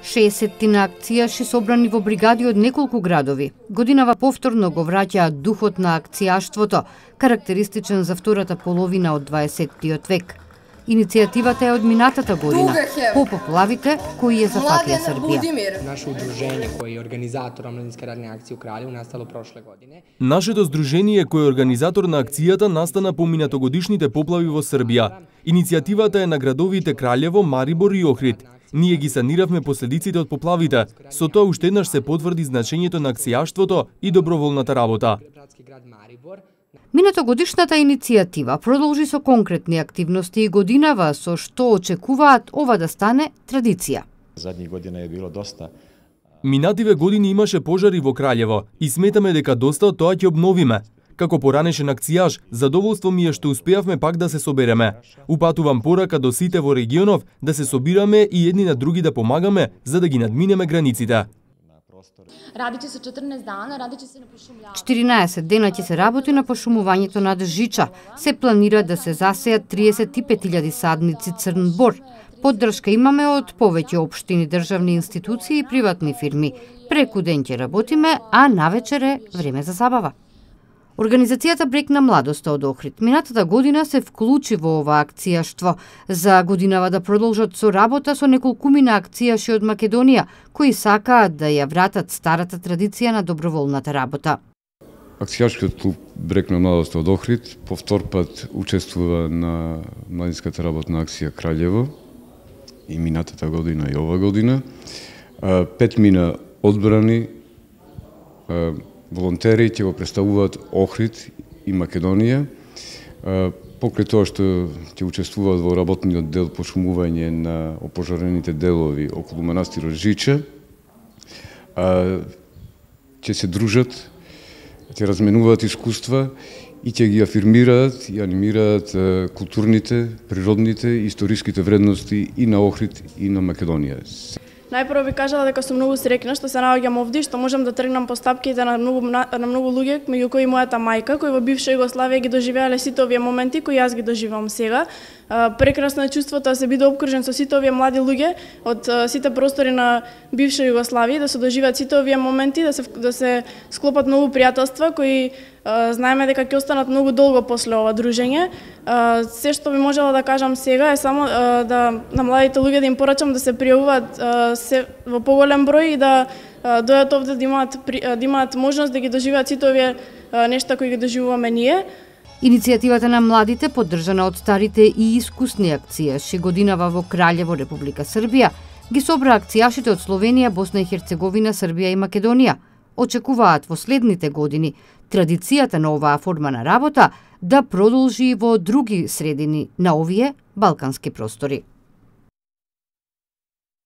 60 на акцијаши собрани во бригади од неколку градови. Годинава повторно го враќа духот на акцијаштвото, карактеристичен за втората половина од 20-тиот век. Иницијативата е од минатата година, по поплавите кои ја зафатија Србија. Наше удружение кој е организатор омладинска радна акција у Кралјево настало прошле године. Нашето здружение кој е организатор на акцијата настана по минатогодишните поплави во Србија. Иницијативата е на градовите Кралјево, Марибор и Охрид. Ние ги саниравме последиците од поплавите, со тоа уште еднаш се потврди значењето на акцијаштвото и доброволната работа. Минатогодишната иницијатива продолжи со конкретни активности и годинава со што очекуваат ова да стане традиција. Задни година е било доста. Минативе години имаше пожари во Кралјево и сметаме дека доста од тоа ќе обновиме. Како поранешен акцијаш, задоволство ми е што успеавме пак да се собереме. Упатувам порака до сите во регионов да се собираме и едни на други да помагаме за да ги надминеме границите. Радиće se 14 dana, radиće se na pošumljavanju. 14 дена ќе се работи на пошумувањето на Жича. Се планира да се засејат 35.000 садници црн бор. Поддршка имаме од повеќе општини, државни институции и приватни фирми. Преку ден ќе работиме, а навечер е време за забава. Организацијата Брег на младоста од Охрид минатата година се вклучи во ова акцијаштво за годинава да продолжат со работа со неколкумина акцијаши од Македонија кои сакаат да ја вратат старата традиција на доброволната работа. Акцијашкиот клуб Брег на младоста од Охрид по втор пат учествува на младинската работна акција Кралјево и минатата година и ова година. 5 мина одбрани волонтери ќе го представуваат Охрид и Македонија. Покрај тоа што ќе учествуваат во работниот дел пошумување на опожарените делови околу манастирот Жича, ќе се дружат, ќе разменуваат искуства и ќе ги афирмираат и анимираат културните, природните и историските вредности и на Охрид и на Македонија. Најпрво би кажала дека сум многу среќна што се наоѓам овде, што можам да тргнам по стапките на многу луѓе, меѓу кои мојата мајка, кои во бивша Југославија ги доживеале сите овие моменти кои јас ги доживам сега. Прекрасно е чувството да се биде опкружен со сите овие млади луѓе од сите простори на бивша Југославија, да се доживеат сите овие моменти, да се склопат многу пријателства кои знаеме дека ќе останат многу долго после ова дружење. Се што би можела да кажам сега е само на младите луѓе да им порачам да се пријавуваат во поголем број и да дојдат овде да имаат можност да ги доживеат сите овие нешта кои ги доживуваме ние. Иницијативата на младите, поддржана од старите и искусни акцијаши годинава во Кралјево, Република Србија, ги собра акцијашите од Словенија, Босна и Херцеговина, Србија и Македонија. Очекуваат во следните години традицијата на оваа форма на работа да продолжи во други средини на овие балкански простори.